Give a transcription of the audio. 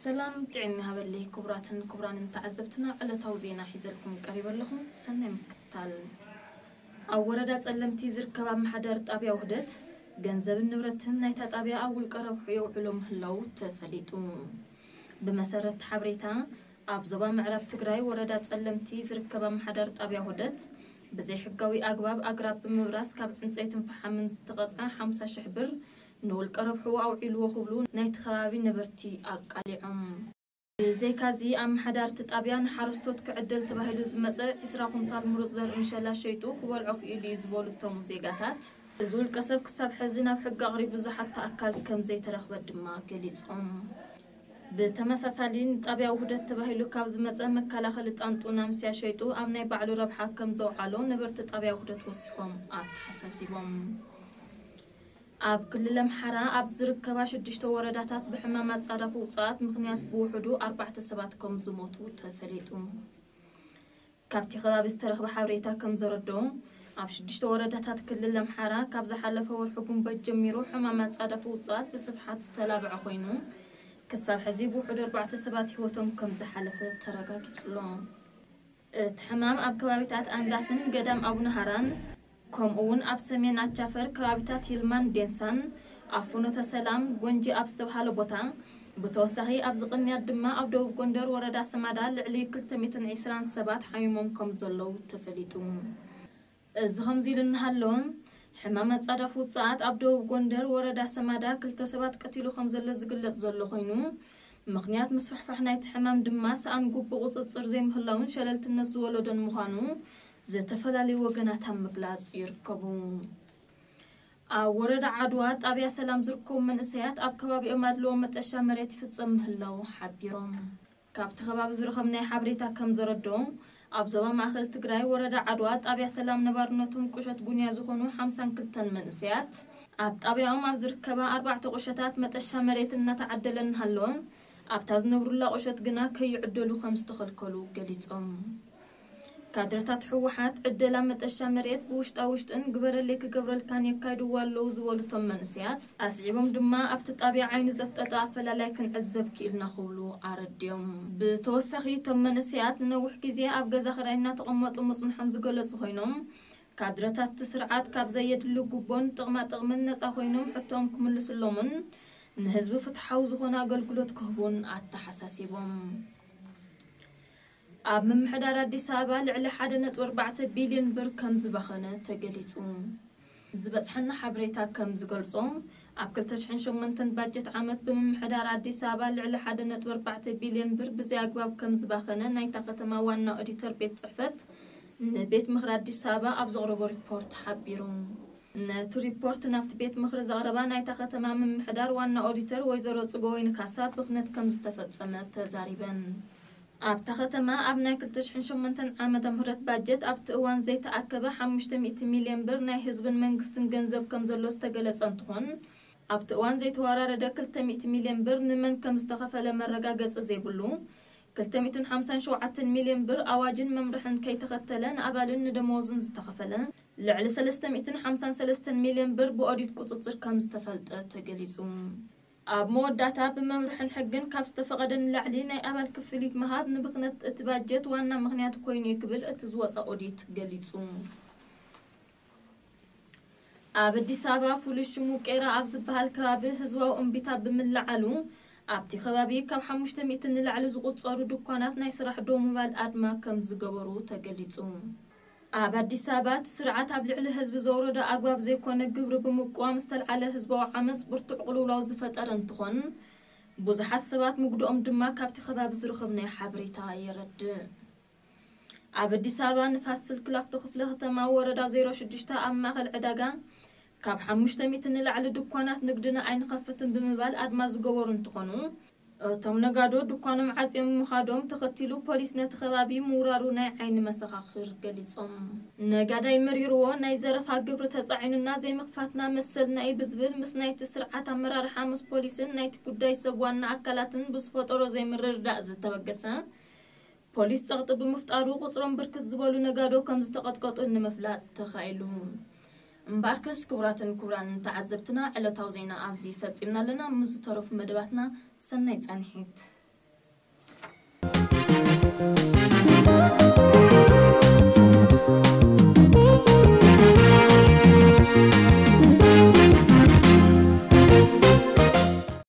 ሰላም ጥዕና ሃበለይ ክቡራትን ክቡራንን ተዓዘብትና፣ ዕለታዊ ዜና ሒዘልኩም ቀሪበ ኣለኹ። ሰናይ ምክትታል። ኣብ ወረዳ ጸለምቲ ዝርከብ ኣመሓዳሪ ጣብያ ውህደት፣ ገንዘብን ንብረትን ናይታ ጣብያ ኣብ ውልቀ ረብሑ የውዕሎ ምህላው ተፈሊጡ። ብመሰረት ሓበሬታ፣ ኣብ ዞባ ምዕራብ ትግራይ ወረዳ ጸለምቲ ዝርከብ ኣመሓዳሪ ጣብያ ውህደት፣ ብዘይሕጋዊ ኣግባብ ኣግራብ ብምብራስ ካብ ዕንፀይትን ፈሓምን ዝተቐፅዐ ሓምሳ ሽሕ ብር ንውልቀ ረብሑ ኣውዒልዎ ክብሉ ናይቲ ከባቢ ነበርቲ ኣቃሊዖም። ብዘይካዚ፣ ኣመሓዳርቲ ጣብያ ንሓረስቶት ክዕደል ተባሂሉ ዝመፀ ዒስራ ኩንታል ምሩፅ ዘርኢ ምሸላ ሸይጡ ክበልዖ ክኢሉ እዩ ዝበሉ እቶም ዜጋታት፣ እዚ ውልቀ ሰብ ክሳብ ሕዚ ናብ ሕጊ ኣቕሪቡ ዝሓቶ ኣካል ከም ዘይተረኽበ ድማ ገሊፆም። ብተመሳሳሊ፣ ንጣብያ ውህደት ተባሂሉ ካብ ዝመፀ መከላኸሊ ጣንጡ ናምስያ ሸይጡ ኣብ ናይ ባዕሉ ረብሓ ከም ዘውዓሎ ነበርቲ ጣብያ ውህደት ወሲኾም ኣተሓሳሲቦም። ኣብ ክልል ኣምሓራ ኣብ ዝርከባ ሽዱሽተ ወረዳታት ብሕማም ኣጻዳፊ ውጽኣት ምኽንያት ብውሕዱ ኣርባዕተ ሰባት ከም ዝሞቱ ተፈሊጡ። ካብቲ ከባቢ ዝተረኽበ ሓበሬታ ከም ዘረድኦ፣ ኣብ ሽዱሽተ ወረዳታት ክልል ኣምሓራ ካብ ዝሓለፈ ወርሒ ጉንበት ጀሚሩ ሕማም ኣጻዳፊ ውጽኣት ብስፍሓት ዝተላብዐ ኮይኑ፣ ክሳብ ሕዚ ብውሕዱ ኣርባዕተ ሰባት ህይወቶም ከም ዝሓለፈ ተረጋጊጹ ኣሎ። እቲ ሕማም ኣብ ከባቢታት ኣንዳስን ገዳም ኣቡነ ሃራን፣ ከምኡ እውን ኣብ ሰሜን ኣቻፈር ከባቢታት ይልማን ዴንሳን፣ ኣብ ፍኖተ ሰላም ጎንጂ ኣብ ዝተብሃለ ቦታ፣ ብተወሳኺ ኣብዚ ቅንያት ድማ ኣብ ደቡብ ጎንደር ወረዳ ሰማዳ ልዕሊ ክልተ ሚእትን ዕስራን ሰባት ሓሚሞም ከም ዘለዉ ተፈሊጡ። እዚ ከምዚ ኢሉ እናሃለወ፣ ሕማም ኣጻዳፊ ውጽኣት ኣብ ደቡብ ጎንደር ወረዳ ሰማዳ ክልተ ሰባት ቀቲሉ ከም ዘሎ ዝግለጽ ዘሎ ኮይኑ፣ ምኽንያት ምስፍሕፋሕ ናይቲ ሕማም ድማ ሰኣን ግቡእ ቁጽጽር ዘይምህላውን ሸለልትነት ዝወለዶን ምዃኑ ዝተፈላለዩ ወገናት ኣብ ምግላጽ ይርከቡ። ኣብ ወረዳ ዓድዋ ጣብያ ሰላም ዝርከቡ መንእሰያት ኣብ ከባቢኦም ኣድልዎ መጠሻ መሬት ይፍጸም ምህላው ሓቢሮም። ካብቲ ከባቢ ዝረኸብናዮ ሓበሬታ ከም ዘረድኦ፣ ኣብ ዞባ ማእኸል ትግራይ ወረዳ ዓድዋ ጣብያ ሰላም ነባርነቶም ቁሸት ጉንያ ዝኾኑ ሓምሳን ክልተን መንእሰያት፣ ኣብ ጣብያኦም ኣብ ዝርከባ ኣርባዕተ ቁሸታት መጠሻ መሬት እናተዓደለ እናሃለወ፣ ኣብታ ዝነብሩላ ቁሸት ግና ከይዕደሉ ከም ዝተኸልከሉ ገሊጾም። ካድረታት ህወሓት ዕደላ መጠሻ መሬት ብውሽጣ ውሽጥን ግበረለይ ክገብረልካን የካይድዎ ኣለዉ ዝበሉ እቶም መንእሰያት፣ ኣስዒቦም ድማ ኣብቲ ጣብያ ዓይኑ ዘፍጠጠ ኣፈላላይ ክንዕዘብ ክኢልና ክብሉ ኣረድዮም። ብተወሳኺ እቶም መንእሰያት ንነዊሕ ግዜ ኣብ ገዛ ክራይ እናተቐመጡ ምጽንሖም ዝገለጹ ኮይኖም፣ ካድረታት እቲ ስርዓት ካብ ዘየድሊ ጉቦን ጥቕማ ጥቕምን ነጻ ኮይኖም ሕቶኦም ክምልስሎምን ንህዝቢ ፍትሓዊ ዝኾነ ኣገልግሎት ክህቡን ኣተሓሳሲቦም። ኣብ ምምሕዳር ኣዲስ ኣበባ ልዕሊ ሓደ ነጥቢ ኣርባዕተ ቢልዮን ብር ከም ዝባኸነ ተገሊጹ። ዝበጽሐና ሓበሬታ ከም ዝገልጾ፣ ኣብ ክልተ ሽሕን ሸሞንተን ባጀት ዓመት ብምምሕዳር ኣዲስ ኣበባ ልዕሊ ሓደ ነጥቢ ኣርባዕተ ቢልዮን ብር ብዘይ ኣግባብ ከም ዝባኸነ ናይታ ከተማ ዋና ኦዲተር ቤት ጽሕፈት ንቤት ምኽሪ ኣዲስ ኣበባ ኣብ ዘቕረቦ ሪፖርት ሓቢሩ። ነቲ ሪፖርት ናብቲ ቤት ምኽሪ ዘቕረባ ናይታ ከተማ ምምሕዳር ዋና ኦዲተር ወይዘሮ ጽገወይኒ ካሳ ብኽነት ከም ዝተፈጸመ ተዛሪበን። ኣብታ ከተማ ኣብ ናይ ክልተ ሽሕን ሸሞንተን ዓመተ ምህረት ባጀት ኣብቲ እዋን ዘይተኣከበ ሓሙሽተ ሚእቲ ሚልዮን ብር ናይ ህዝብን መንግስትን ገንዘብ ከም ዘሎ ዝተገለጸ እንትኾን፣ ኣብቲ እዋን ዘይተወራረደ ክልተ ሚእቲ ሚልዮን ብር ንመን ከም ዝተኸፈለ መረጋገጺ ዘይብሉ፣ ክልተ ሚእትን ሓምሳን ሸውዓተን ሚልዮን ብር ኣዋጅን መምርሕን ከይተኸተለ ንኣባልን ንደመወዙን ዝተኸፈለ ልዕሊ ሰለስተ ሚእትን ሓምሳን ሰለስተን ሚልዮን ብር ብኦዲት ቁጽጽር ከም ዝተፈልጠ ተገሊጹ። ኣብ መወዳእታ ብመምርሕን ሕግን ካብ ዝተፈቐደ ንላዕሊ ናይ ኣባል ክፍሊት ምሃብ ንብኽነት እቲ ባጀት ዋና ምኽንያት ኮይኑ እዩ ክብል እቲ ዝወጸ ኦዲት ገሊጹ። ኣብ ኣዲስ ኣበባ ፍሉይ ሽሙ ቄራ ኣብ ዝበሃል ከባቢ ህዝባዊ እምቢታ ብምልዓሉ ኣብቲ ከባቢ ካብ ሓሙሽተ ሚእቲ ንላዕሊ ዝቑጸሩ ድኳናት ናይ ስራሕ ደው ምባል ኣድማ ከም ዝገበሩ ተገሊጹ። ኣብ ኣዲስ ኣበባ እቲ ስርዓት ኣብ ልዕሊ ህዝቢ ዘውረዶ ኣግባብ ዘይኮነ ግብሪ ብምቅዋም ዝተልዓለ ህዝባዊ ዓመጽ ብርቱዕ ቅልውላው ዝፈጠረ እንትኾን፣ ብዙሓት ሰባት ምግድኦም ድማ ካብቲ ከባቢ ዝረኸብናዮ ሓበሬታ የረድእ። ኣብ ኣዲስ ኣበባ ንፋስ ስልክ ላፍቶ ክፍለ ከተማ ወረዳ ዜሮ ሽዱሽተ ኣብ ማእኸል ዕዳጋ ካብ ሓሙሽተ ሚእቲ ንላዕሊ ድኳናት ንግድና ኣይንኸፍትን ብምባል ኣድማ ዝገበሩ እንትኾኑ፣ እቶም ነጋዶ ድኳኖም ዓፅዮም ምኻዶም ተኸቲሉ ፖሊስ ነቲ ከባቢ ምውራሩ ናይ ዓይኒ መሰኻኽር ገሊጾም። ነጋዳይ መሪርዎ ናይ ዘረፋ ግብሪ ተጻዒኑና ዘይምኽፋትና መሰልና እዩ ብዝብል ምስ ናይቲ ስርዓት ኣመራርሓ ምስ ፖሊስን ናይቲ ጉዳይ ሰብ ዋና ኣካላትን ብዝፈጠሮ ዘይምርድዳእ ዝተበገሰ ፖሊስ ጸቕጢ ብምፍጣሩ ቁጽሮም ብርክት ዝበሉ ነጋዶ ከም ዝተቐጥቀጡ ንምፍላጥ ተኻኢሉ። እምበኣርከስ ክቡራትን ክቡራን ተዓዘብትና ዕለታዊ ዜና ኣብዚ ፈጺምና ኣለና። ምስ ዝተረፉ መደባትና ሰናይ ጻንሒት።